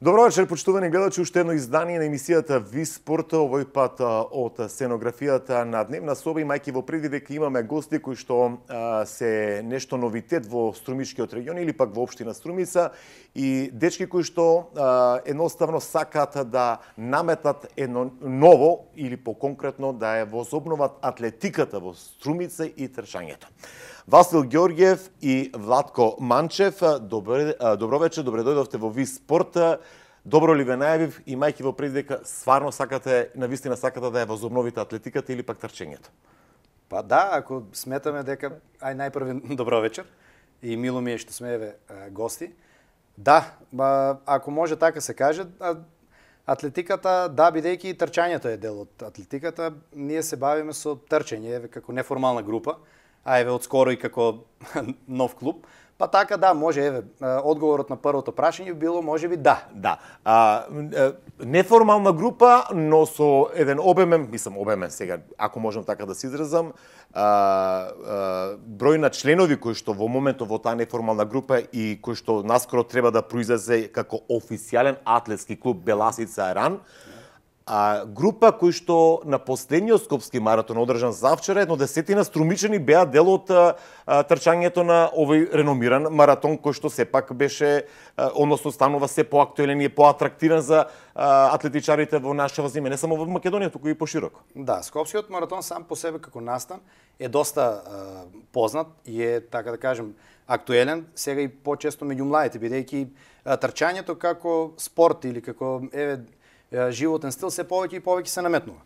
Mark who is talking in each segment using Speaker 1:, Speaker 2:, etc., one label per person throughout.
Speaker 1: Добро вечер, почитувани гледачи, уште едно издание на емисијата ВИС Спорт, овој пат од сценографијата на Дневна соба, имајќи во предвид дека имаме гости кои што се нешто новитет во Струмичкиот регион или пак во општина Струмица и дечки кои што едноставно сакаат да наметат едно ново или по-конкретно да ја возобноват атлетиката во Струмица и трчањето. Васил Ѓорѓиев и Владко Манчев, добро вечер, добре дојдовте во ВИС Спорт. Добро ли ве најавив, имајќи во предвид дека стварно сакате, навистина сакате да ја возобновите атлетиката или пак трчењето?
Speaker 2: Па да, ако сметаме дека најпрви добро вечер и мило ми е што сме еве гости. Да, ако може така се каже, атлетиката, да, бидејќи и трчањето е дел од атлетиката, ние се бавиме со трчање, еве како неформална група, а еве одскоро и како нов клуб. Па така да, може еве одговорот на првото прашање било можеби да.
Speaker 1: Да. Неформална група, но со еден обемен сега, ако можам така да се изразам, број на членови кои што во моментот во таа неформална група и кои што наскоро треба да произлезе како официјален атлетски клуб Беласица Ран. Група кои што на последниот скопски маратон одржан завчера, едно десетина струмичани беа дел од трчањето на овој реномиран маратон кој што сепак беше, односно станува се поактуелен и поатрактивен за атлетичарите во нашава земја, не само во Македонија, туку и пошироко.
Speaker 2: Да, скопскиот маратон сам по себе како настан е доста познат и е, така да кажем, актуелен, сега и почесто меѓу младите, бидејќи трчањето како спорт или како животен стил се повеќе и повеќе се наметнува.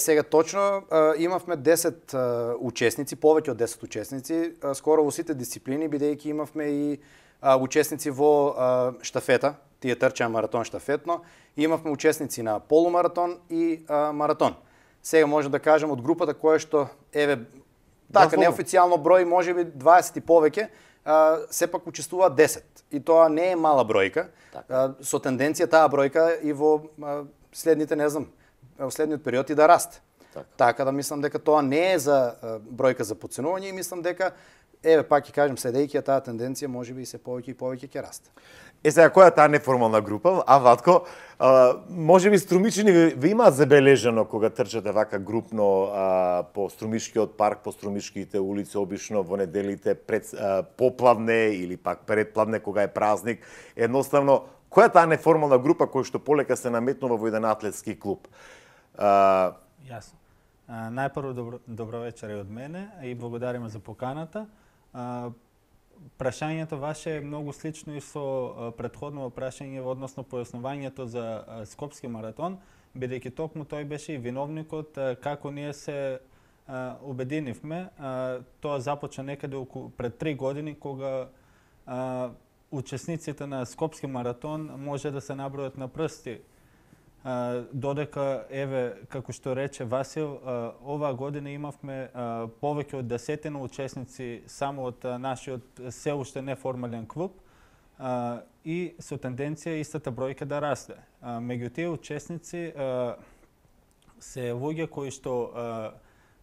Speaker 2: Сега точно имавме 10 учесници, повеќе од 10 учесници, скоро во сите дисциплини, бидејќи имавме и учесници во штафета, тие трчаа маратон штафетно, имавме учесници на полумаратон и маратон. Сега може да кажем од групата која што така неофицијално број можеби 20 и повеќе, сепак учествуваат 10. И тоа не е мала бројка, со тенденција таа бројка и во следните, не знам, во следниот период и да расте. Така да мислам дека тоа не е за бројка за подценување и мислам дека, пак ќе кажем, следејќи таа тенденција, можеби и се повеќе и повеќе ќе расте.
Speaker 1: Сега, која е таа неформална група? Ватко, можеби струмичани ви имаат забележано кога трчате вака групно по Струмишкиот парк, по Струмишките улици, обично во неделите пред попладне или пак предпладне кога е празник. Едноставно, која е таа неформална група која што полека се наметнува во еден атлетски клуб?
Speaker 3: Јасно. Најпрво добро вечер од мене и благодариме за поканата. Прашањето ваше е многу слично и со претходно прашање, односно појаснувањето за Скопски маратон, бидејќи токму тој беше и виновникот како ние се обединивме. Тоа започна некаде пред 3 години, кога учесниците на Скопски маратон може да се набројат на прсти. Додека, како што рече Васил, оваа година имавме повеќе од 10 учесници само од нашиот се уште неформален клуб и со тенденција истата бројка да расте. Меѓу тие учесници се луѓе кои што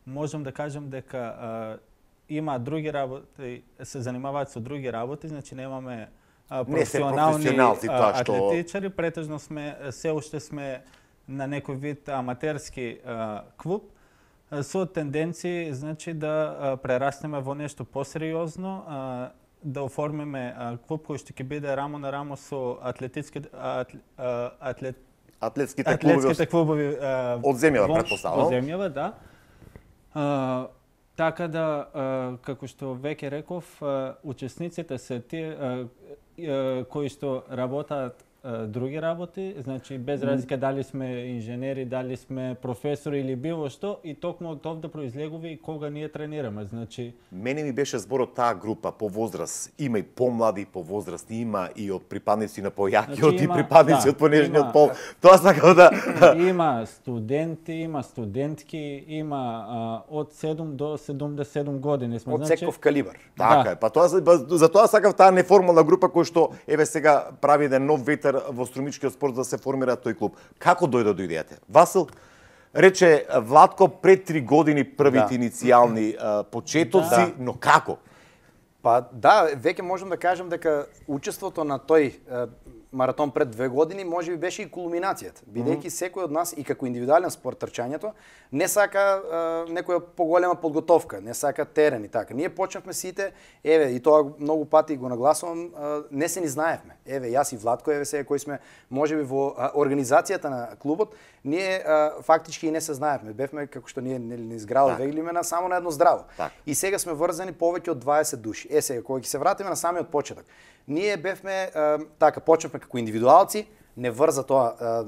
Speaker 3: можам да кажем дека имаат други работи, се занимаваат со други работи, значи немаме професионални атлетичари, претежно се уште сме на некој вид аматерски клуб со тенденции, значи да прерастеме во нешто посериозно, да оформиме клуб кој што ќе биде рамо на рамо со атлетските клубови
Speaker 1: од земјава, претпоставувам.
Speaker 3: Од земјава, да. Така да, како што веќе реков, учесниците се тие кои што работаат други работи, значи без разлика дали сме инженери, дали сме професори или било што, и токму од овде произлегува и кога ние тренираме, значи.
Speaker 1: Мене ми беше зборот таа група по возраст, има и помлади по возраст, има и од припадници на појакиот и припадници од понежниот пол. Тоа сакам да
Speaker 3: има студенти, има студентки, има од 7 до 77 години сме,
Speaker 2: од секов калибар.
Speaker 1: Така е, па тоа за тоа сакав таа неформална група која што сега прави еден нов ветер во струмичкиот спорт да се формира тој клуб. Како дојде до идејата? Васил, рече Владко пред 3 години првите иницијални почетоци, но како?
Speaker 2: Па да, веќе можам да кажам дека учеството на тој маратон пред 2 години можеби беше и кулминацијата, бидејќи секој од нас и како индивидуален спорт трчањето не сака некоја поголема подготовка, не сака терен и така. Ние почнавме сите, еве и тоа многу пати го нагласувам, не се ни знаевме. Еве јас и Владко, еве сега кои сме можеби во организацијата на клубот, ние фактички и не се знаевме. Бевме како што ние не зграло веглиме само на едно здраво. И сега сме врзани повеќе од 20 души. Сега кога ќе се вратиме на самиот почеток. Ние бевме така почнавме како индивидуалци, не врза тоа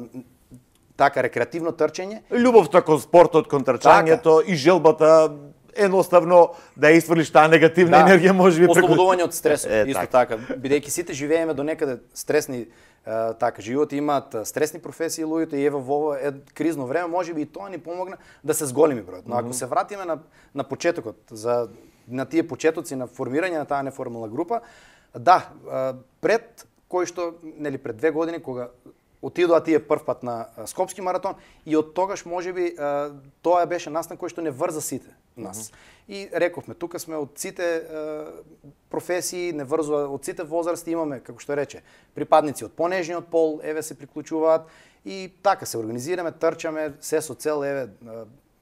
Speaker 2: така рекреативно трчање.
Speaker 1: Љубовта кон спортот, кон трчањето и желбата едноставно да изврлиш таа негативна енергија можеби
Speaker 2: ослободување од стресот. Исто така, бидејќи сите живееме до некаде стресни така животи, имаат стресни професии луѓето и ево во ова кризно време можеби и тоа ни помогна да се зголеми бројот. Но ако се вратиме на почетокот, на тие почетоци на формирање на таа неформална група, да, пред кој што, нели пред 2 години кога отидоа тие прв пат на Скопски маратон и од тогаш можеби тоа беше настан кој што не врза сите нас. И рековме, тука сме од сите професии, не врзува од сите возрасти, имаме, како што рече, припадници од понежниот пол, еве се приклучуваат и така се организираме, трчаме, се со цел еве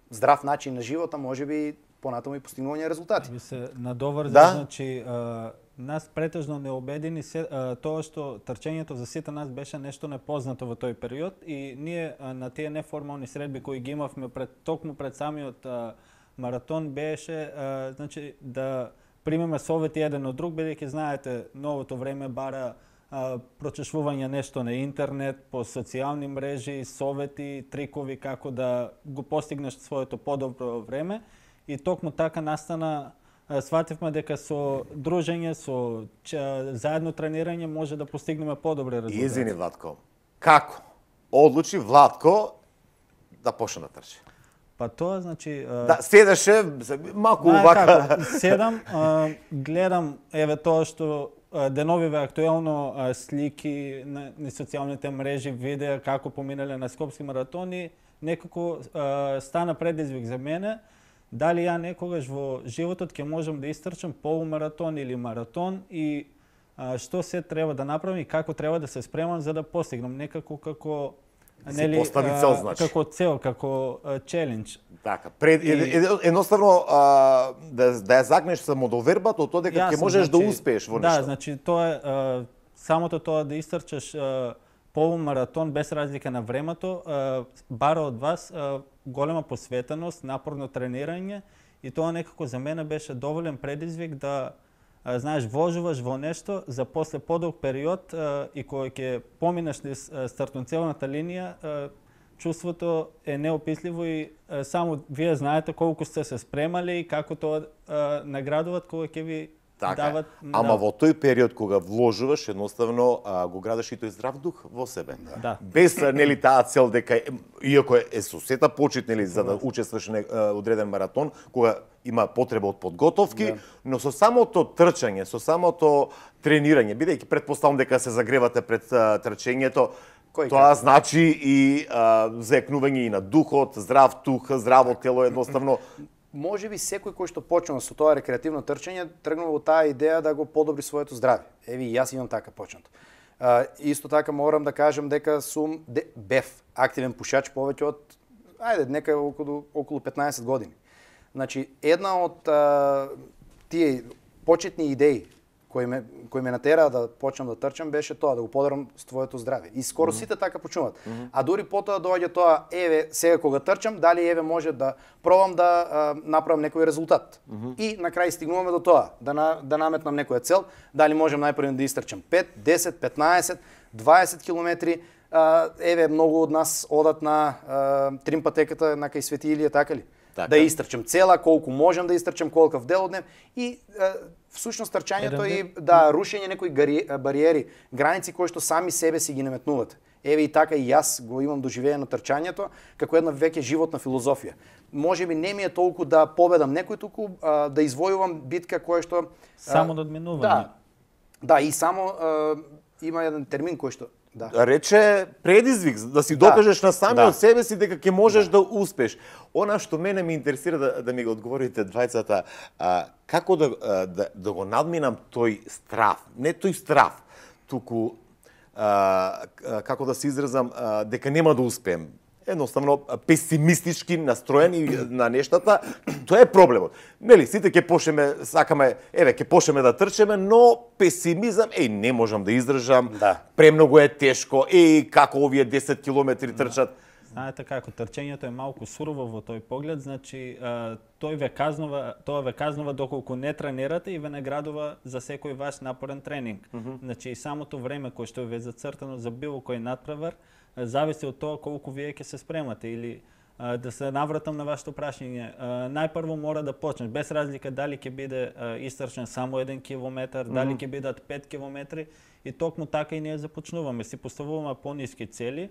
Speaker 2: здрав начин на живота, можеби понатаму и постигнување резултати.
Speaker 3: Би се надоврза, значи нас претежно не убедени тоа што трчањето за сите нас беше нешто непознато во тој период и ние на тие неформални средби кои ги имавме токму пред самиот маратон беше значи да примеме совети еден од друг, бидејќи знаете новото време бара прочешување нешто на интернет, по социјални мрежи, совети, трикови како да го постигнеш своето подобро време и токму така настана свативме дека со дружење, со заедно тренирање може да постигнеме подобри резултати.
Speaker 1: Извини, Владко. Како одлучи Владко да почне да трчи?
Speaker 3: Па тоа значи
Speaker 1: да седеше малку вака.
Speaker 3: Седам, гледам еве тоа што деновиве актуелно слики на социјалните мрежи, видеа како поминале на Скопски маратони, некако стана предизвик за мене. Дали ја некогаш во животот ќе можам да истрчам полумаратон или маратон и што се треба да направам и како треба да се спремам за да постигнам некако како
Speaker 1: нели цел, значи.
Speaker 3: Како цел, како челендж.
Speaker 1: Така, едноставно да ја загнеш самодовербата од тоа дека ќе можеш да успееш во нешто.
Speaker 3: Да, значи тоа е самото тоа да истрчаш полумаратон без разлика на времето бара од вас голема посветеност, напорно тренирање и тоа некако за мене беше доволен предизвик да знаеш вложуваш во нешто за после подолг период и кога ќе поминеш низ стартно-целната линија, чувството е неописливо и само вие знаете колку сте се спремале и како тоа наградуваат кога ќе ви дават.
Speaker 1: Ама во тој период кога вложуваш, едноставно го градиш и тој здрав дух во себе.
Speaker 3: Да.
Speaker 1: Без нели таа цел дека иако е со сета почит нели за да учествуваш на одреден маратон, кога има потреба од подготовки, но со самото трчање, со самото тренирање, бидејќи претпоставам дека се загревате пред трчањето, тоа значи и заекнување и на духот, здрав дух, здраво тело, едноставно.
Speaker 2: Може би секој кој што почнува со тоа рекреативно трчање тргнува во таа идеја да го подобри своето здравје. Еви јас имам така почнато. Исто така морам да кажам дека сум бев активен пушач повеќе од нека околу 15 години. Значи една од тие почетни идеи кои ме натера да почнам да трчам беше тоа да го подобрам своето здравје. И скоро сите така почнуваат. А дури потоа доаѓа тоа еве сега кога трчам, дали еве може да пробам да направам некој резултат. И на крај стигнуваме до тоа да наметнам некоја цел, дали можам најпрво да истрчам 5, 10, 15, 20 километри. Еве многу од нас одат на тримпатеката на кај Свети Илија, така ли? Така. Да истрчам цела, колку можам да истрчам, колкав дел од днев и всушност трчањето и рушење некои бариери, граници кои што сами себе си ги наметнувате. Еве и така и јас го имам доживеено трчањето како една веќе животна филозофија. Можеби не ми е толку да победам некој, туку да извојувам битка која што
Speaker 3: само надминување.
Speaker 2: Да, и само има еден термин кој што
Speaker 1: рече предизвик да си докажеш на самиот себе си дека ќе можеш да успеш. Она што мене ме интересира да ми го одговорите двајцата, како да го надминам тој страв, не тој страв, туку како да се изразам, дека нема да успеем. Едноставно песимистички настроени на нештата, тоа е проблемот. Нели, сите ќе почнеме, сакаме, ќе почнеме да трчеме, но песимизам, не можам да издржам, премногу е тешко, како овие 10 километри трчат.
Speaker 3: Знаете како, трчењето е малку сурово во тој поглед, значи тоа ве казнува доколку не тренирате и ве наградува за секој ваш напорен тренинг. Значи и самото време кое што ве зацртано за било кој натпревар зависи од тоа колку вие ќе се спремате или да се навратам на вашето прашање. Најпрво мора да почнеш, без разлика дали ќе биде истрчен само 1 километар, дали ќе бидат 5 километри и токму така и ние започнуваме. Си поставуваме пониски цели.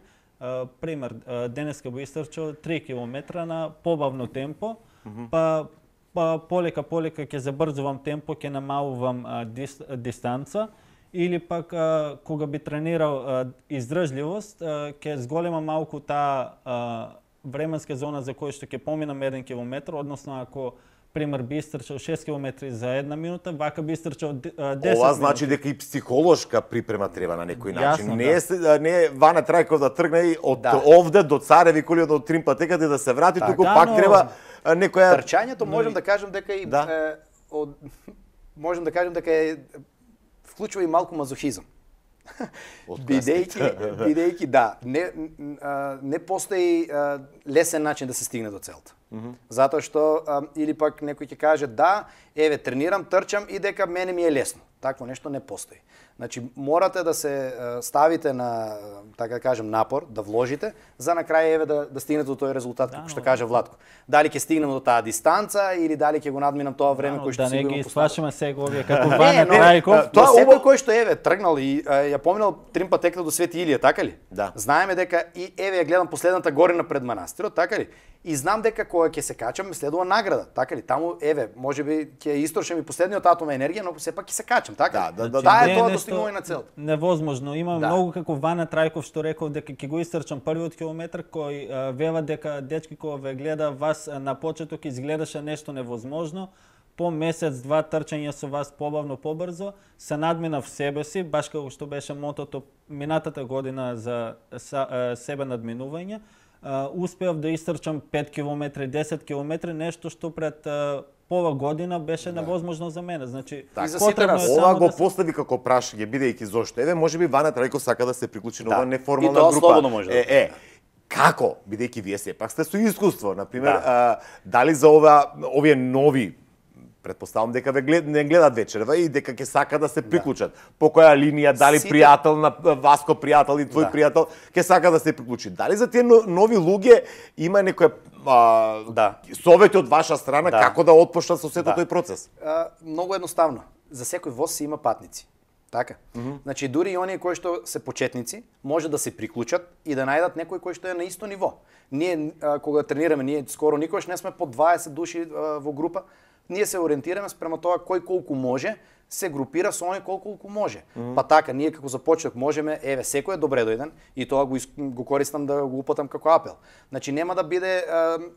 Speaker 3: Пример, денеска го истрчал 3 километра на побавно темпо, па полека ќе забрзувам темпо, ќе намалувам дистанца, или пак кога би тренирал издржливост, ќе зголема малку таа временска зона за која што ќе поминам 1 километар, односно ако пример би истрчал 6 километри за 1 минута, вака би истрчал 10 минути.
Speaker 1: Ова значи дека и психолошка припрема треба на некој начин. Не е Вана Трајков да тргне од овде до Цареви коли од Тримпатеката и да се врати, туку пак треба некоја
Speaker 2: трчањето можам да кажам дека и можам да кажам дека вклучува и малку мазохизам. Бидејќи не постои лесен начин да се стигне до целта. Затоа што или пак некој ќе каже тренирам, трчам и дека мене ми е лесно. Такво нешто не постои. Значи морате да се ставите на, така да кажем, напор, да вложите, за на крај да стигнете до тој резултат, како што каже Владко. Дали ќе стигнеме до таа дистанца или дали ќе го надминам тоа време кој што
Speaker 3: си го
Speaker 2: поставил.
Speaker 3: Да не ги исплашиме сега овие како Ваня Трајков.
Speaker 2: Тоа секој кој што тргнал и ја поминал Тримпатеката до Свети Илија, така ли?
Speaker 1: Да.
Speaker 2: Знаеме дека и ја гледам последната горина пред манастирот, така ли? И знам дека кога ќе се качам следува награда, така ли? Таму можеби ќе истрошам и последниот атом енергија, но сепак ќе се качам, така ли? Таа е тоа достигнување на целта.
Speaker 3: Невозможно. Има многу како Ваня Трајков што рекол дека ќе го истрчам првиот километар, кој вела дека дечки кога ве гледа вас на почеток изгледаше нешто невозможно. По месец-два трчање со вас побавно, побрзо, се надминав себе си, баш како што беше мотото минатата година за себе надминување. Успеав да истрчам 5 километри, 10 километри, нешто што пред пола година беше невозможно за мене. Значи,
Speaker 1: ова го постави како прашање, бидејќи зошто. Можеби Ваня Трајков сака да се приклучи на оваа неформална група.
Speaker 2: И тоа слободно може.
Speaker 1: Како? Бидејќи вие сепак сте со искуство, например, дали за овие нови, претпоставам дека не гледат вечерва и дека ќе сака да се приклучат. По која линија, дали пријател на Васко пријател и твој пријател ќе сака да се приклучи. Дали за тие нови луѓе има некоја совети од ваша страна како да отпочнат со сето тој процес?
Speaker 2: Многу едноставно. За секој воз си има патници. Така. Значи дури и оние кои што се почетници може да се приклучат и да најдат некој кој што е на исто ниво. Ние кога тренираме, ние скоро никош не сме по 20 души во група. Ние се ориентираме спрема тоа кој колку може, се групира со оној колку може. Па така, ние како започнок можеме, секој е добре дојден и тоа го користам да го упатам како апел. Значи нема да биде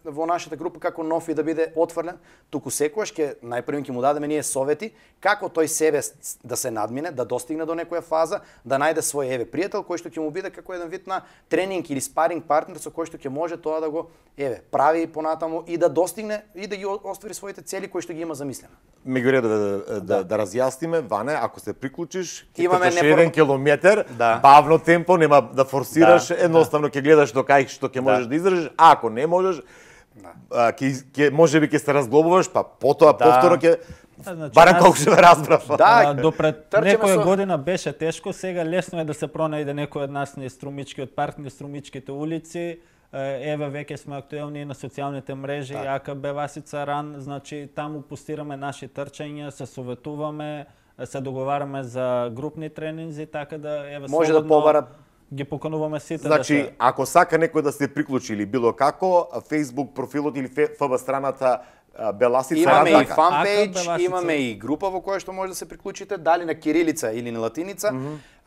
Speaker 2: во нашата група како нов и да биде отврлен, туку секојаш најпрвен ќе му дадеме ние совети како тој себе да се надмине, да достигне до некоја фаза, да најде свој пријател кој што ќе му биде како еден вид на тренинг или спаринг партнер со кој што ќе може тоа да го прави понатаму и да достигне и да ги оствари своите цели кои што ги има замислено.
Speaker 1: Меѓу да разјасниме, Ване, ако се приклучиш, ќе трчаш 1 километар, бавно темпо, нема да форсираш, едноставно ќе гледаш до кај што ќе можеш да издржиш, а ако не можеш, можеби ќе се разглобуваш, па потоа повторно ќе барем колку што разбрав.
Speaker 3: Допред некоја година беше тешко, сега лесно е да се пронајде некој од нас на струмичкиот парк, на струмичките улици. Веќе сме актуелни на социјалните мрежи, АКБ Васица Ран, значи таму постираме наши трчања, се советуваме, се договараме за групни тренинзи, така да
Speaker 2: може да побарат.
Speaker 3: Ги покануваме сите.
Speaker 1: Значи, ако сака некој да се приклучи или било како, Facebook профилот или ФБ страната Беласица Ран.
Speaker 2: Имаме и фанпејдж, имаме и група во која што може да се приклучите, дали на кирилица или на латиница.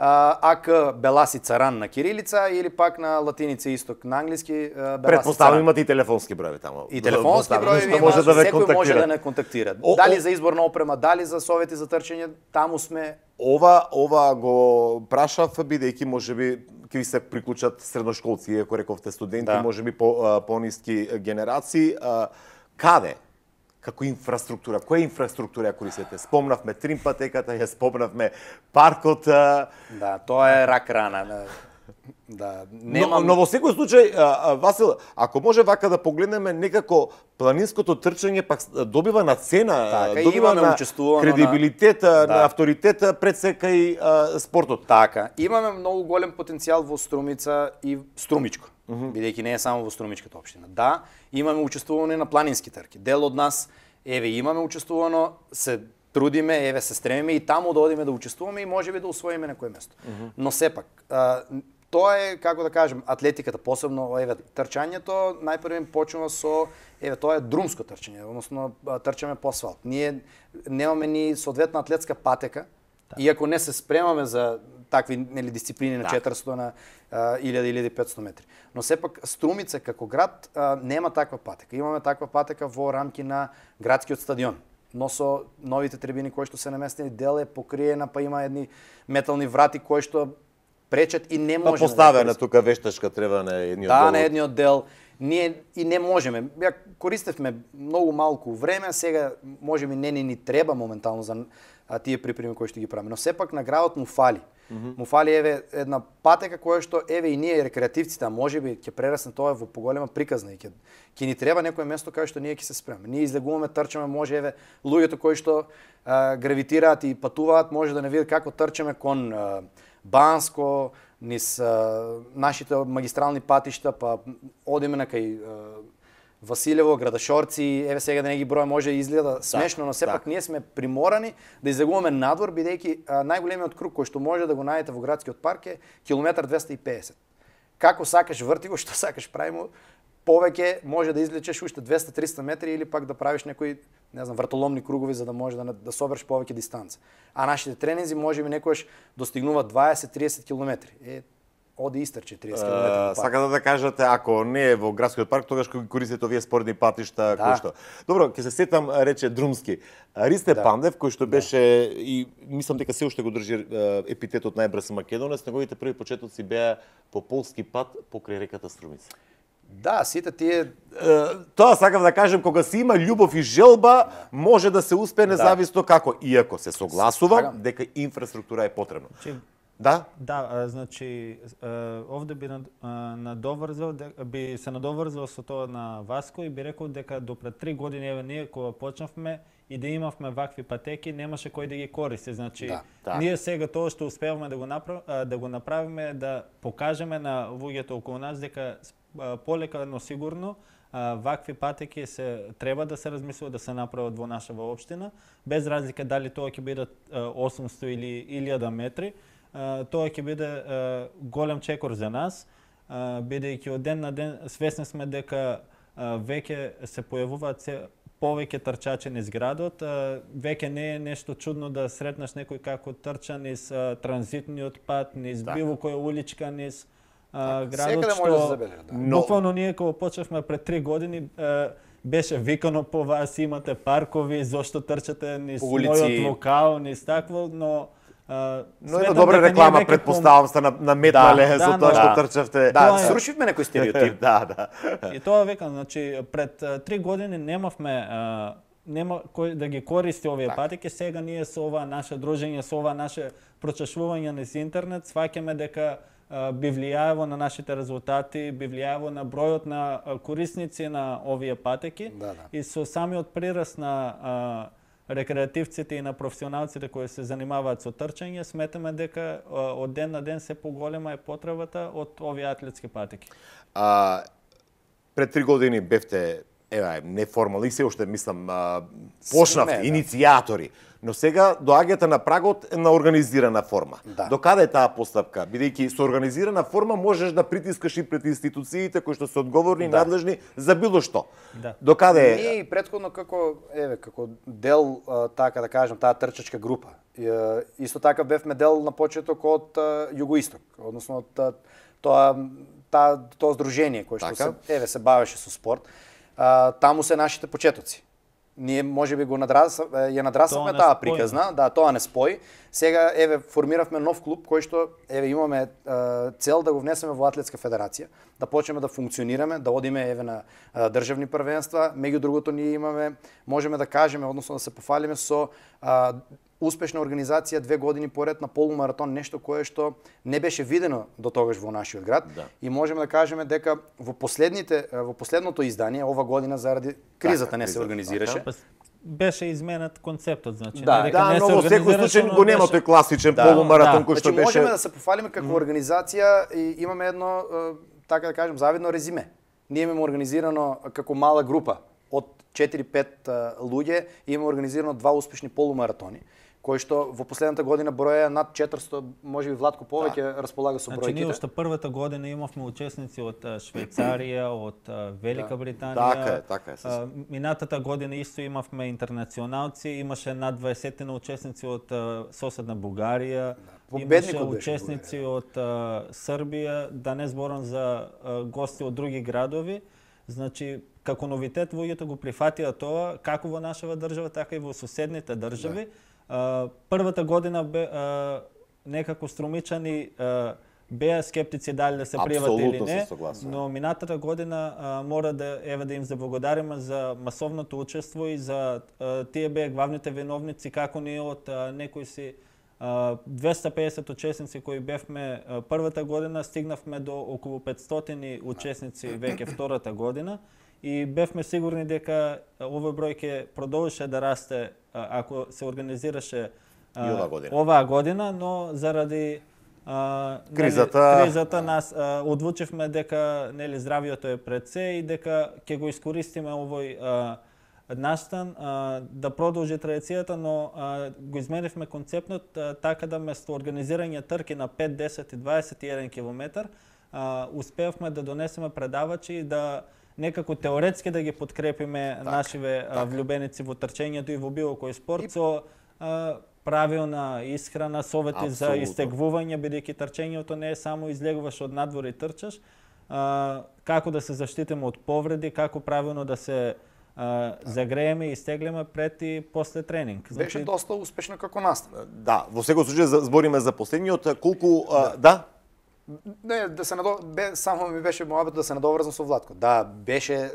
Speaker 2: АК Беласи Царан на кирилица или пак на латиница исток на англиски Беласи
Speaker 1: Предпоставам
Speaker 2: Царан.
Speaker 1: имате и телефонски броеви таму.
Speaker 2: И телефонски броеви има,
Speaker 1: може да ве
Speaker 2: секој може да
Speaker 1: контактира.
Speaker 2: не контактира. Дали за избор на опрема, дали за совети за трчање, таму сме.
Speaker 1: Ова го прашав бидејќи можеби ќе ви се приклучат средношколци, иако рековте студенти,
Speaker 2: Да.
Speaker 1: можеби по-ниски генерации. Каде? Како инфраструктура? Која инфраструктура ја користите? Спомнавме трим патеката, ја спомнавме паркот.
Speaker 2: Да, тоа е рак рана. Да, немам...
Speaker 1: Но во секој случај, Васил, ако може вака да погледнеме, некако планинското трчање пак добива на цена,
Speaker 2: Така,
Speaker 1: добива
Speaker 2: имаме
Speaker 1: на
Speaker 2: учествувано
Speaker 1: кредибилитет,
Speaker 2: на-
Speaker 1: на авторитет пред секај спортот.
Speaker 2: Така, имаме многу голем потенцијал во Струмица и Струмичко, бидејќи не е само во Струмичката општина. Да, имаме учествувано и на планински трки. Дел од нас, еве, имаме учествувано, се трудиме, еве, се стремиме и таму да одиме да учествуваме и можеби да усвоиме некој место. Но сепак, тоа е, како да кажем, атлетиката, посебно, еве, трчањето, најпрво почнува со, еве, тоа е друмско трчање, односно трчаме по асфалт. Ние немаме ни соодветна атлетска патека, иако не се спремаме за такви нели дисциплини на 400 на 1000-1500 метри. Но сепак Струмица како град нема таква патека. Имаме таква патека во рамки на градскиот стадион. Но со новите трибини кои што се наместени, дел е покриена, па има едни метални врати кои што пречат и не
Speaker 1: Па
Speaker 2: можеме
Speaker 1: поставена
Speaker 2: да
Speaker 1: тука вештачка треба на едниот
Speaker 2: да,
Speaker 1: дел.
Speaker 2: на едниот дел. Ние и не можеме. Ја користевме многу малку време, сега можеби не ни треба моментално за тие припреми кои што ги правиме. Но сепак на градот му фали. Му фали еве една патека која што еве и ние рекреативците, а можеби ќе прерасне тоа во поголема приказна и ќе ни треба некое место каде што ние ќе се спремаме. Ние излегуваме, трчаме, може еве луѓето кои што гравитираат и патуваат, може да не видат како трчаме кон Банско, низ нашите магистрални патишта, па одиме на кај Василево, Градашорци, еве сега да не ги броја, може да изгледа смешно, но сепак ние сме приморани да излегуваме надвор, бидејќи најголемиот круг кој што може да го најдете во градскиот парк е километар 250. Како сакаш врти го, што сакаш прави му, повеќе може да извлечеш уште 200-300 метри или пак да правиш некои, не знам, вратоломни кругови за да може да собереш повеќе дистанца. А нашите тренинзи можеби некојаш достигнуваат 20-30 километри. Оди истрче 30 км.
Speaker 1: Сакате да кажете, ако не е во градскиот парк, тогаш кога ги користите овие спортни патишта, кои што. Добро, ќе се сетам, рече Друмски. Ристе Пандев, кој што беше и мислам дека се уште го држи епитетот најбрз македонец, неговите први почетоци беа по полски пат покрај реката Струмица.
Speaker 2: Да, сите тие...
Speaker 1: Тоа сакам да кажем, кога се има љубов и желба, може да се успее независно како. Иако се согласувам дека инфраструктура е потребна. Да?
Speaker 3: Да, значи овде би се надоврзал со тоа на Васко и би рекол дека до пред 3 години еве ние кога почнавме и да имавме вакви патеки, немаше кој да ги користи. Значи ние сега тоа што успеваме да го направиме, да покажеме на луѓето околу нас дека полека, но сигурно вакви патеки треба да се размислува да се направат во нашава општина, без разлика дали тоа ќе бидат 800 или 1000 метри. Тоа ќе биде голем чекор за нас, бидејќи од ден на ден свесни сме дека веќе се појавуваат повеќе трчачи низ градот. Веќе не е нешто чудно да сретнеш некој како трча низ транзитниот пат, низ било која уличка низ градот, што буквално ние кога почнавме пред 3 години беше викано по вас, имате паркови, зошто трчате низ мојот локал, низ такво, но
Speaker 1: една добра реклама, предпоставам, сте наметнале за тоа што трчавте.
Speaker 2: Да, срушивме некој стереотип.
Speaker 1: Да.
Speaker 3: И тоа викам, значи пред 3 години немавме нема кој да ги користи овие патеки. Сега ние со ова наше дружење, со ова наше прочешување низ интернет, сваќаме дека би влијаево на нашите резултати, би влијаево на бројот на корисници на овие патеки. И со самиот прираст на рекреативците и на професионалците кои се занимаваат со трчање, сметаме дека од ден на ден се поголема е потребата од овие атлетски патеки.
Speaker 1: Пред 3 години бевте неформални, се уште мислам почнавте,
Speaker 2: да.
Speaker 1: иницијатори. Но сега доаѓате на прагот на организирана форма.
Speaker 2: Да.
Speaker 1: Докаде е таа постапка? Бидејќи со организирана форма можеш да притискаш и пред институциите кои што се одговорни и надлежни за било што.
Speaker 3: Да.
Speaker 1: Докаде е?
Speaker 2: Ние и претходно како дел, така да кажем, таа трчачка група. Исто така бевме дел на почеток од Југоисток, односно од тоа здружение кое што се бавеше со спорт. Таму се нашите почетоци. Ние можеби ја надрасавме таа приказна, да, тоа не спои. Сега формиравме нов клуб кој што имаме цел да го внесеме во Атлетска федерација, да почнеме да функционираме, да одиме на државни првенства. Меѓу другото ние можеме да кажеме, односно да се пофалиме со успешна организација 2 години поред на полумаратон, нешто кое што не беше видено до тогаш во нашиот град. Да. И можеме да кажеме дека во последното издание ова година заради кризата не се организираше.
Speaker 3: Беше изменет концептот, значи.
Speaker 1: Да, но во секој случај го нема тој класичен полумаратон кој што беше.
Speaker 2: Можеме да се пофалиме како организација и имаме едно, така да кажем, завидно резиме. Ние имаме организирано како мала група од 4-5 луѓе, имаме организирано 2 успешни полумаратони, кои што во последната година броја над 400, можеби Владко повеќе располага со бројките.
Speaker 3: Значи ние уште првата година имавме учесници од Швајцарија, од Велика Британија.
Speaker 1: Така е.
Speaker 3: Минатата година исто имавме интернационалци, имаше над 20 учесници од соседна Бугарија. Имаше учесници од Србија, да не зборам за гости од други градови. Значи, како новитет, луѓето го прифатија тоа, како во нашава држава, така и во соседните држави. Првата година некако Струмичани беа скептици дали да се пријават или не, но минатата година мора да им заблагодариме за масовното учество и за тие беа главните виновници, како ние од некои си 250 учесници кои бевме првата година, стигнавме до околу 500 учесници веќе втората година и бевме сигурни дека овој број ќе продолжеше да расте ако се организираше оваа година, но заради кризата нас одлучивме дека здравието е пред се и дека ќе го искористиме овој настан да продолжи традицијата, но го изменивме концептот така да место организирање трки на 5, 10 и 21 километар, успеавме да донесеме предавачи и да некако теоретски да ги подкрепиме нашиве влюбеници во трчењето и во било кој спорт со правилна исхрана, совети за истегвување, бидејќи трчењето не е само излегуваш од надвор и трчаш, како да се заштитиме од повреди, како правилно да се загрееме и стеглеме пред и после тренинг.
Speaker 2: Беше доста успешно како настан.
Speaker 1: Да, во секој случај збориме за последниот, колку да.
Speaker 2: Не, само ми беше моабет да се надоврзам со Владко. Да, беше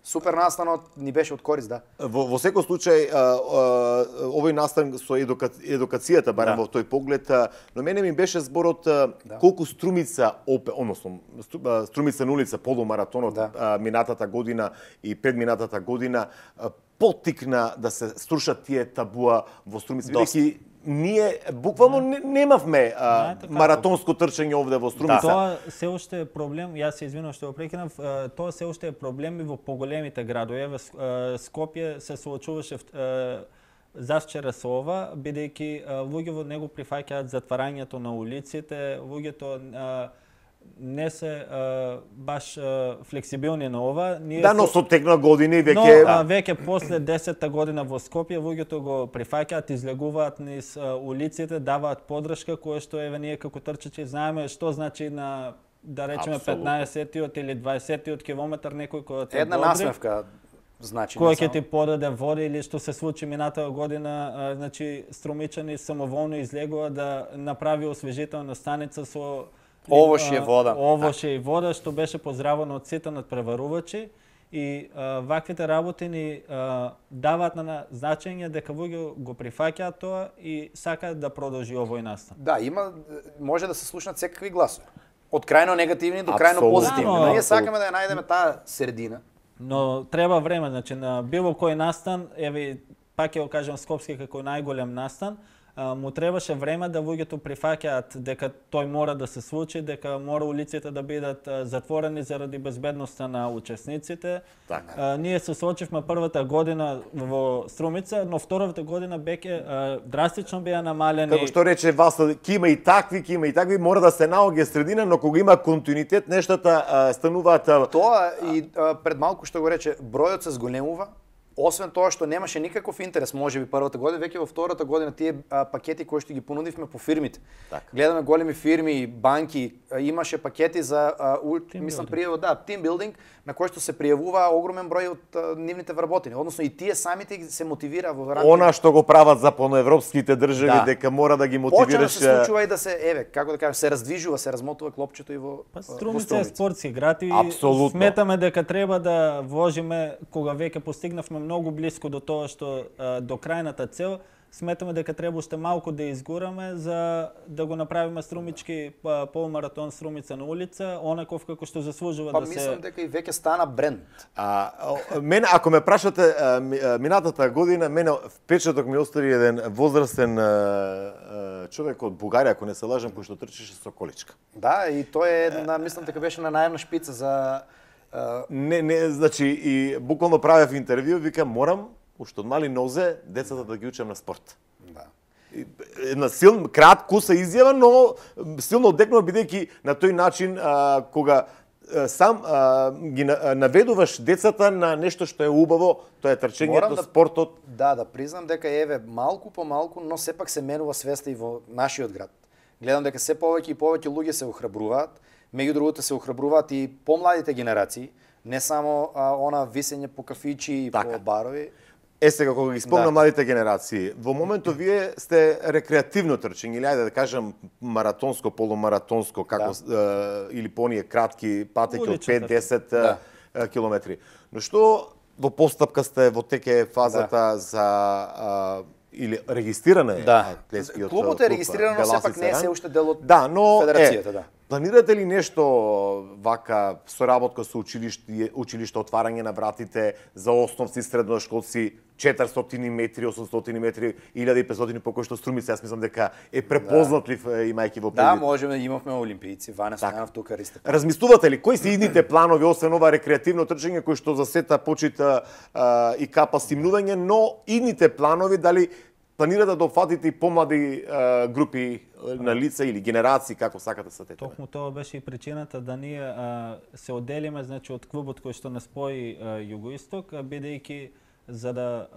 Speaker 2: супер настанот, ни беше од корист, да.
Speaker 1: Во секој случај овој настан со едукацијата, барем во тој поглед, но мене ми беше зборот колку Струмица, односно Струмица на улица, полумаратонот минатата година и предминатата година поттикна да се струшат тие табуа во Струмица, бидејќи ние буквално немавме маратонско трчање овде во Струмица.
Speaker 3: Тоа се уште е проблем, јас се извинувам што го прекинав, тоа се уште е проблем и во поголемите градови. Скопје се соочуваше завчера со ова, бидејќи луѓе во него прифаќаат затварањето на улиците, луѓето не се баш флексибилни на ова.
Speaker 1: Да, но со тек на години веќе...
Speaker 3: Но веќе после 10-та година во Скопје луѓето го прифаќаат, излегуваат низ улиците, даваат подршка, кое што ние како трчачи знаеме што значи на, да речеме, 15-тиот или 20-тиот километар некој кој те
Speaker 2: една насмевка значи
Speaker 3: кој ќе ти подаде вода или што се случи минатата година, значи Струмичани самоволно излегува да направи освежителна станица со
Speaker 2: овошје вода.
Speaker 3: Овошје и вода, што беше поздравено од сите надпреварувачи и ваквите работи ни даваат на значење дека луѓе го прифаќаат тоа и сакаат да продолжи овој настан.
Speaker 2: Да, може да се слушнат секакви гласови. Од крајно негативни до крајно позитивни. Ние сакаме да ја најдеме таа средина.
Speaker 3: Но треба време, значи на било кој настан, пак ќе го кажам Скопски како најголем настан, му требаше време да луѓето прифаќаат дека тој мора да се случи, дека мора улиците да бидат затворени заради безбедноста на учесниците. Ние се соочивме првата година во Струмица, но втората година беќе драстично беа намалени.
Speaker 1: Како што рече Васло, ќе има и такви, мора да се наоѓе средина, но кога има континуитет, нештата стануваат.
Speaker 2: Тоа и пред малку што го рече, бројот се зголемува. Освен тоа што немаше никаков интерес, можеби првата година, веќе во втората година тие пакети кои што ги понудивме по фирмите. Гледаме големи фирми, банки, имаше пакети за мислам пријава, team building, на кој што се пријавува огромен број од нивните вработени. Односно и тие самите се мотивира во рамките.
Speaker 1: Она што го прават западноевропските држави, дека мора да ги мотивираш.
Speaker 2: Почна да се случува и да се, како да кажам, се раздвижува, се размотува клопчето и во
Speaker 3: Струмица е спортски град и
Speaker 1: сметаме
Speaker 3: дека треба да вложиме кога веќе постигнавме многу близко до тоа што до крајната цел, сметаме дека треба уште малку да изгураме за да го направиме струмички полумаратон Струмица на улица, онаков како што заслужува да се.
Speaker 2: Мислам дека и веќе стана бренд.
Speaker 1: Мене ако ме прашате минатата година, мене впечаток ми остави еден возрастен човек од Бугарија, ако не се лажам, кој што трчеше со количка.
Speaker 2: Да, и тој е мислам дека беше на најемна шпица за
Speaker 1: значи и буквално правев интервју, викам морам уште од мали нозе децата да ги учам на спорт.
Speaker 2: Да.
Speaker 1: Една силна, кратко се изјава, но силно одекнува бидејќи на тој начин кога сам ги наведуваш децата на нешто што е убаво, тоа е трчењето, спортот.
Speaker 2: Да признам дека еве малку по малку, но сепак се менува свеста и во нашиот град. Гледам дека се повеќе и повеќе луѓе се охрабруваат. Меѓу другото се охрабруваат и помладите генерации, не само она висење по кафичи и по барови.
Speaker 1: Сега кога ги спомнам младите генерации, во моментот вие сте рекреативно трчење, или ајде да кажам маратонско, полумаратонско, како или по оние кратки патеки од 5-10 километри. Но што во постапка сте во теке фазата за или регистриране атлетскиот клуб?
Speaker 2: Клубот е регистрирано, сепак не е се уште дел од
Speaker 1: федерацијата, Планирате ли нешто вака соработка со училиште, отварање на вратите за основци, средношколци, 400 метри, 800 метри, 1500 по кој што Струмица, јас мислам дека е препознатлив имајќи во предвид.
Speaker 2: Да, можеме, имавме олимпијци, Ване Стојанов тука Ристе.
Speaker 1: Размислувате ли кои се идните планови освен ова рекреативно трчање кој што за сета почита и капа стимнување, но идните планови дали планирате да дофатите и помлади групи на лица или генерации, како сакате са тете?
Speaker 3: Токму тоа беше и причината да ние се одделиме, значи, од клубот кој што не спои Југоисток, бидејќи за да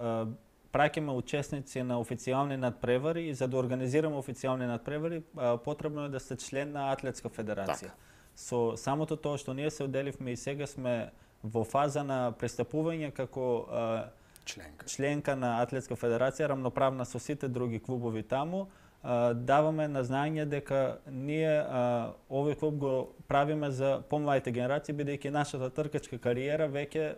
Speaker 3: праќаме учесници на официјални надпревари и за да организираме официјални надпревари, потребно е да сте член на Атлетска федерација. Со самото тоа што ние се одделивме и сега сме во фаза на пристапување како членка на Атлетска федерација, рамноправна со сите други клубови таму, даваме на знаење дека ние овој клуб го правиме за помладите генерации, бидејќи нашата тркачка кариера веќе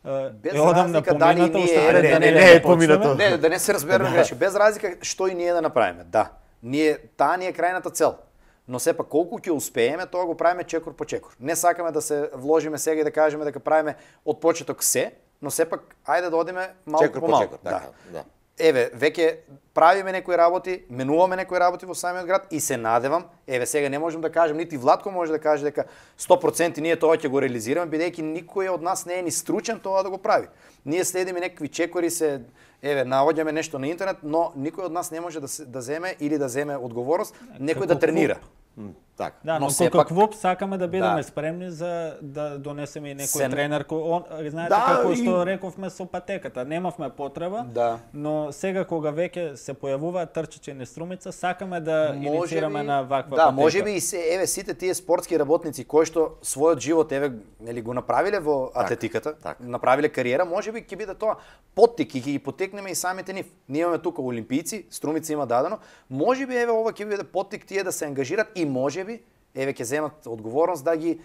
Speaker 2: е одамна помината, уште пред да не е поминато. Не, да не се разбереме грешки. Без разлика што и ние да направиме. Да, таа ни е крајната цел. Но сепак колку ќе успееме, тоа го правиме чекор по чекор. Не сакаме да се вложиме сега и да кажеме дека правиме од почеток се, но сепак ајде да одиме малку по малку. Да. Еве, веќе правиме некои работи, менуваме некои работи во самиот град и се надевам, еве сега не можам да кажам, нити Владко може да каже дека 100% ние тоа ќе го реализираме, бидејќи никој од нас не е ни стручен тоа да го прави. Ние следиме некакви чекори, наоѓаме нешто на интернет, но никој од нас не може да земе или да земе одговорност, некој да тренира.
Speaker 3: Так. Да, но како клуб сакаме да бидеме спремни за да донесеме и некој тренер кој знаете како што рековме со патеката, немавме потреба, но сега кога веќе се појавуваат трчачи на Струмица, сакаме да иницираме на ваква патека.
Speaker 2: Да, можеби и сите тие спортски работници кои што својот живот нели го направиле во атлетиката, направиле кариера, можеби ќе биде тоа поттик и ќе ги потекнеме и самите нив. Ние имаме тука олимпијци, Струмица има дадено, можеби ова ќе биде поттик тие да се ангажират и можеби ќе земат одговорност да ги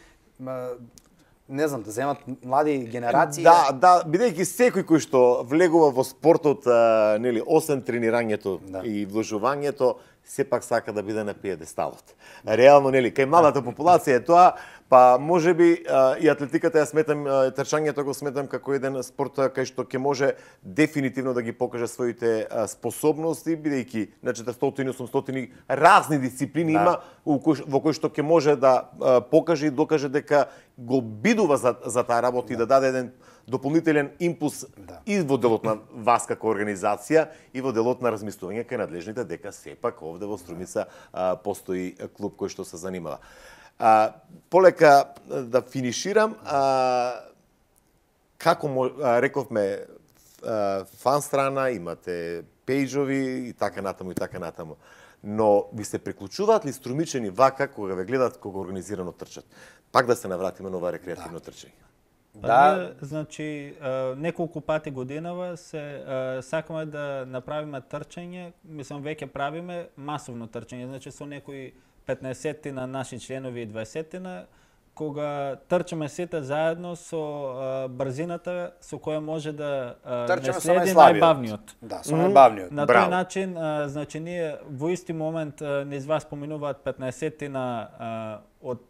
Speaker 2: не знам, да земат млади генерации.
Speaker 1: Да, бидејќи секој кој што влегува во спортот, нели, освен тренирањето и вложувањето, сепак сака да биде на пиедесталот. Реално, нели, кај младата популација е тоа, па можеби и атлетиката ја сметам, трчањето го сметам како еден спорт кај што ќе може дефинитивно да ги покаже своите способности, бидејќи на 400-800 разни дисциплини има во кои што ќе може да покаже и докаже дека го бидува за таа работа и да даде еден дополнителен импулс и во делот на вас како организација и во делот на размислување кај надлежните дека сепак овде во Струмица постои клуб кој што се занимава. Полека да финиширам, како рековме, фан страна, имате пејджови и така натаму. Но ви се приклучуваат ли струмичени вака кога ве гледат кога организирано трчат? Пак да се навратиме на ова рекреативно трчање.
Speaker 3: Да, значи неколку пати годинава сакаме да направиме трчање, мислам веќе правиме масовно трчање, значи со некои 15 на наши членови и 20 на кога трчаме сите заедно со брзината со која може да не следи најбавниот.
Speaker 2: Да, со најбавниот.
Speaker 3: На тој начин, значи ние во исти момент низ вас споменуваат 15 на од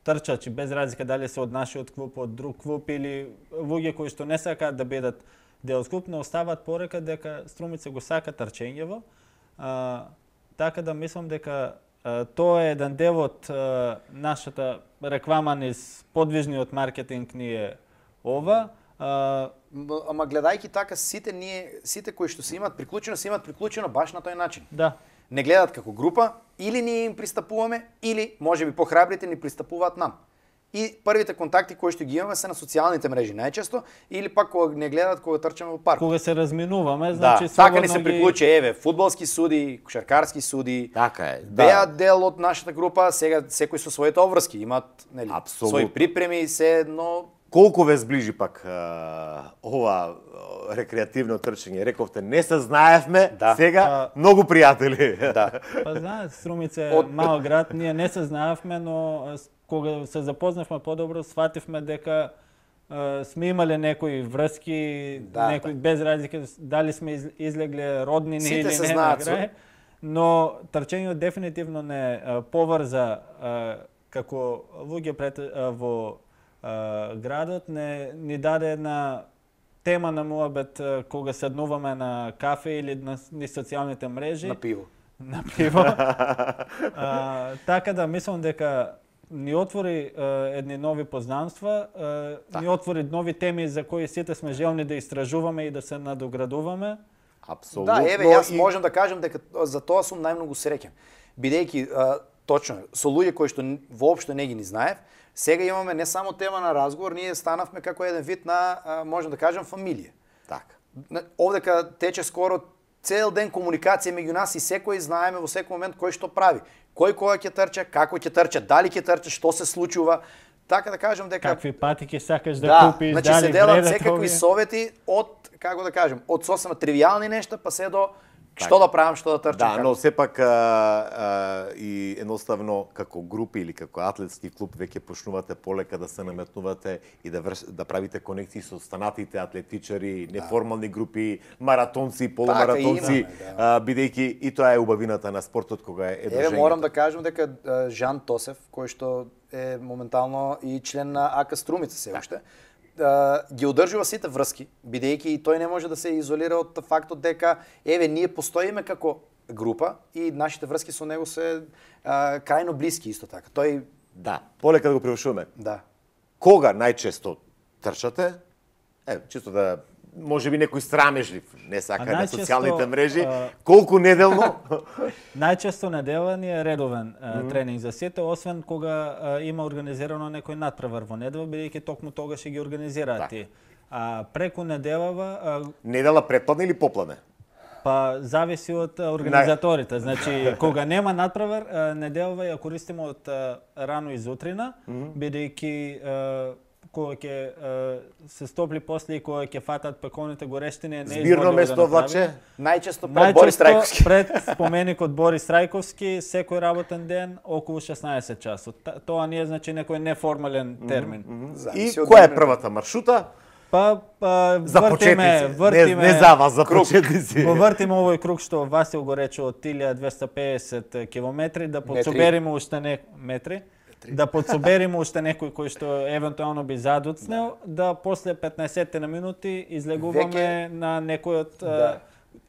Speaker 3: трчачи, без разлика дали се од нашиот клуб, од друг клуб или луѓе кои што не сакаат да бидат дел клуб, но остават порека дека Струмица го сака трчењево. Така да мислам дека тоа е еден дел од нашата реклама низ подвижниот маркетинг ни е ова.
Speaker 2: Ама гледајќи така, сите кои што се имаат приклучено баш на тој начин.
Speaker 3: Да.
Speaker 2: Не гледат како група, или ние им пристапуваме, или можеби похрабрите ни пристапуваат нам. И првите контакти кои што ги имаме се на социјалните мрежи најчесто, или пак кога не гледат кога трчаме во парк.
Speaker 3: Кога се разминуваме, значи
Speaker 2: така ни се приклучи, еве, фудбалски суди, кошаркарски суди.
Speaker 1: Така е.
Speaker 2: Беа дел од нашата група, сега секој со своите обврски, имаат, нели, свои припреми, се едно.
Speaker 1: Колку ве сближи пак ова рекреативно трчање? Рековте, не се знаевме, сега многу пријатели.
Speaker 2: Да.
Speaker 3: Па знаат, Струмица е мал град, ние не се знаевме, но кога се запознавме подобро, свативме дека сме имале некои врски, некои без разлика дали сме излегле роднини или не на крај, но трчањето дефинитивно не поврза како луѓе во градот, ни даде една тема на муабет кога седнуваме на кафе или на социјалните мрежи.
Speaker 2: На пиво.
Speaker 3: На пиво. Така да мислам дека ни отвори едни нови познанства, ни отвори нови теми за кои сите сме желни да истражуваме и да се надоградуваме.
Speaker 1: Апсолутно.
Speaker 2: Да, еве, јас можам да кажам дека за тоа сум најмногу среќен. Бидејќи точно со луѓе кои што воопшто не ги ни знаев, сега имаме не само тема на разговор, ние станавме како еден вид на, можам да кажам, фамилија.
Speaker 1: Така.
Speaker 2: Овдека тече скоро цел ден комуникација меѓу нас и секој знаеме во секој момент кој што прави. Кој кога ќе трча, како ќе трча, дали ќе трча, што се случува. Така да кажам дека
Speaker 3: какви патики сакаш да купиш,
Speaker 2: значи се делат секакви совети од, како да кажем, од сосема тривијални нешта па се до што да правам, што да трчам.
Speaker 1: Да, но сепак и едноставно како групи или како атлетски клуб веќе почнувате полека да се наметнувате и да правите конекции со останатите атлетичари, неформални групи, маратонци, полумаратонци, бидејќи и тоа е убавината на спортот кога е дружење.
Speaker 2: Еве морам да кажам дека Жан Тосев, кој што е моментално и член на АК Струмица се уште, ги одржува сите врски, бидејќи и тој не може да се изолира од фактот дека еве ние постоиме како група и нашите врски со него се крајно блиски исто така. Тој
Speaker 1: полека да го превршуваме.
Speaker 2: Да.
Speaker 1: Кога најчесто трчате? Чисто да можеби некој срамежлив, не сака на социјалните мрежи, колку неделно?
Speaker 3: Најчесто недела ни е редовен тренинг за сите, освен кога има организирано некој надпревар во недела, бидејќи токму тогаш ги организираат тие. Преку неделава...
Speaker 1: Недела предпладне или попладне?
Speaker 3: Па зависи од организаторите. Значи, кога нема надпревар, неделава ја користиме од рано изутрина, бидејќи кога ќе се стопли после и кога ќе фатат пеконите горештини, не
Speaker 1: збирно место влаче.
Speaker 2: Најчесто пред Борис Трајковски.
Speaker 3: Пред споменикот Борис Трајковски, секој работен ден околу 16 часот. Тоа не е значи некој неформален термин.
Speaker 1: И која е првата маршрута?
Speaker 3: Па
Speaker 1: За почетници. Не за вас, за почетници.
Speaker 3: Го вртиме овој круг што Васил го рече од 1250 километри, да подсобериме уште метри. Да подсобериме уште некој кој што евентуално би задуцнел, да после 15 на минути излегуваме на некојот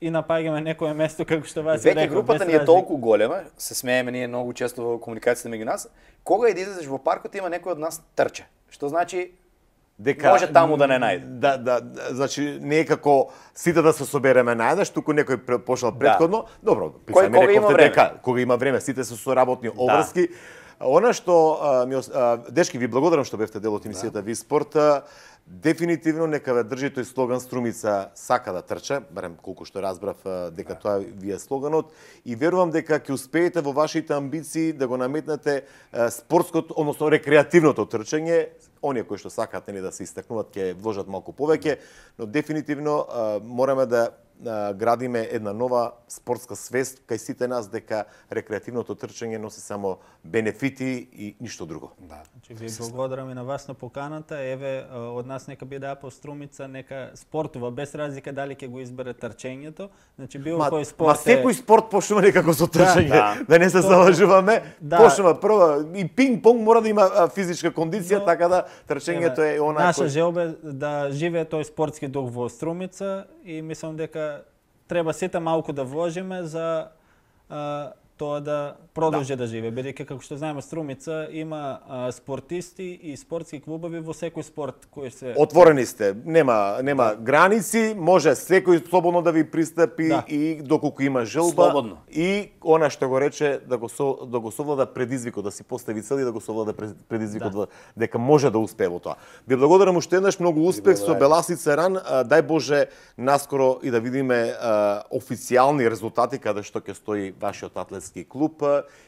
Speaker 3: и напаѓаме некое место како што Васил рекол.
Speaker 2: Веќе групата ни е толку голема, се смееме ние многу често во комуникацијата меѓу нас. Кога и да излезеш во паркот има некој од нас трча. Што значи дека може таму да не најде.
Speaker 1: Значи не е како сите да се собереме наеднаш, туку некој пошел претходно. Добро, писаме рековте дека кога има време, сите се соработни обврски. Она што дечки ви благодарам што бевте дел од емисијата Ви спорт. Дефинитивно нека ве држи тој слоган Струмица сака да трча, барем колку што разбрав дека тоа ви е слоганот, и верувам дека ќе успеете во вашите амбиции да го наметнете спортското, односно рекреативното трчање. Оние кои што сакаат да се истакнуваат ќе вложат малку повеќе, но дефинитивно мораме да градиме една нова спортска свест кај сите нас дека рекреативното трчање носи само бенефити и ништо друго.
Speaker 3: Значи ви благодарам на вас на поканата. Еве од нас нека биде Апо Струмица, нека спортува без разлика дали ќе го избере трчењето. Значи било кој спорт.
Speaker 1: Секој спорт почнува некако со трчање, да не се залажуваме. Почнува прво и пинг-понг мора да има физичка кондиција, така да трчањето е она
Speaker 3: наша желба да живее тој спортски дух во Струмица и мислам дека треба сите малку да вложиме за тоа да продолжи да живее, бидејќи како што знаеме Струмица има спортисти и спортски клубови во секој спорт кој се
Speaker 1: отворени сте, нема граници, може секој слободно да ви пристапи и доколку има желба
Speaker 2: слободно.
Speaker 1: И она што го рече да го совлада предизвикот, да си постави цели, да го совлада предизвикот дека може да успее во тоа. Ви благодарам уште еднаш, многу успех со Беласица Ран, дај Боже наскоро и да видиме официјални резултати каде што ќе стои вашиот атлетски клуб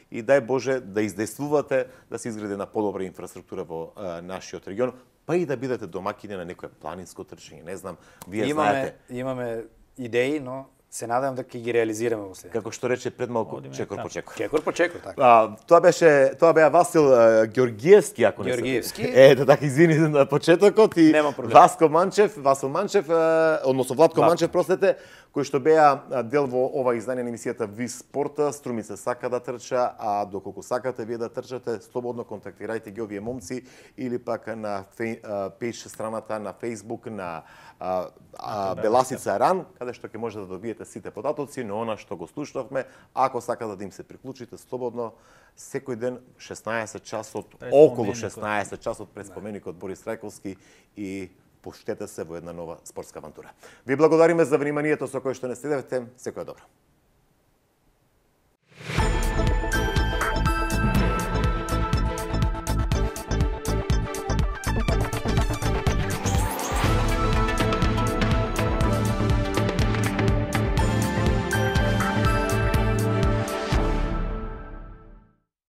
Speaker 1: и дај Боже да издействувате да се изгради на подобра инфраструктура во нашиот регион, па и да бидете домакини на некое планинско трчање. Не знам, вие знаете.
Speaker 2: Имаме идеи, но се надевам дека ќе ги реализираме во следните.
Speaker 1: Како што рече пред малку, чекор по чекор.
Speaker 2: Чекор по чекор, така.
Speaker 1: Тоа беа Васил Ѓоргиевски, ако не се.
Speaker 2: Ѓоргиевски.
Speaker 1: Така извини на почетокот и Васил Манчев, односно Владко Манчев, простете, кои што беа дел во ова издание на емисијата Ви спорта. Струмица сака да трча, а доколку сакате вие да трчате, слободно контактирајте ги овие момци или пак на пејдж страната на Facebook на Беласица Ран, каде што ќе може да добиете сите податоци, но она што го слушнавме, ако сакате да им се приклучите слободно, секој ден 16 часот, околу 16 часот пред споменикот Борис Рајковски и поштете се во една нова спортска авантура. Ви благодариме за вниманието со кое што не следевте. Секој добро.